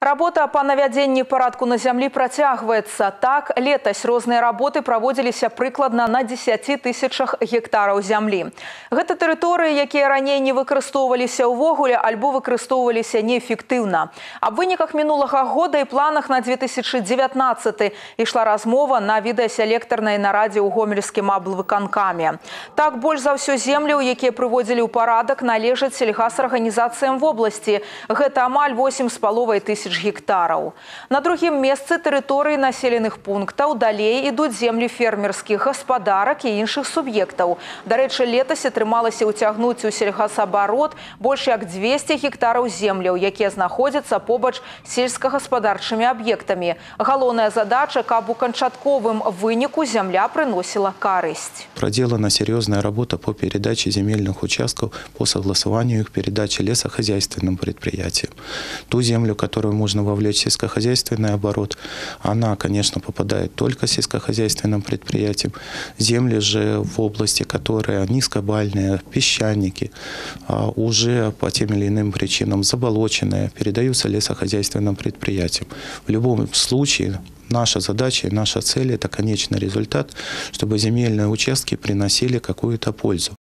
Работа по навядзенні парадку на зямлі працягваецца. Так, летась розныя работы праводзіліся прыкладна на 10 тысячах гектараў зямлі. Гэта тэрыторыі, якія раней не выкарыстоўваліся ўвогуле альбо выкарыстоўваліся неэфектыўна. Аб выніках мінулага года і планах на 2019 ішла размова на відэаселектарнай нарадзе ў гомельскім аблвыканкаме. Так, больш за ўсё земляў, якія прыводзілі ў парадак, належаць сельгасарганізацыям вобласці. Гэта амаль 8,5 тысяч гектараў. На другім месцы тэрыторыі населеных пунктаў далей ідуць землі фермерскіх гаспадарак і іншых суб'ектаў. Дарэчы, летась атрымалася ўцягнуць у сельгасабарот больш як 200 гектараў земляў, якія знаходзяцца побач з сельскагаспадарчымі аб'ектамі. Галоўная задача, каб у канчатковым выніку земля прыносіла карысць. Проделана серьезная работа по передаче земельных участков, по согласованию их передачи лесохозяйственным предприятиям. Ту землю, которую можно вовлечь в сельскохозяйственный оборот, она, конечно, попадает только сельскохозяйственным предприятиям. Земли же в области, которые низкобальные, песчаники, уже по тем или иным причинам заболоченные, передаются лесохозяйственным предприятиям. В любом случае, наша задача и наша цель – это конечный результат, чтобы земельные участки приносили какую-то пользу.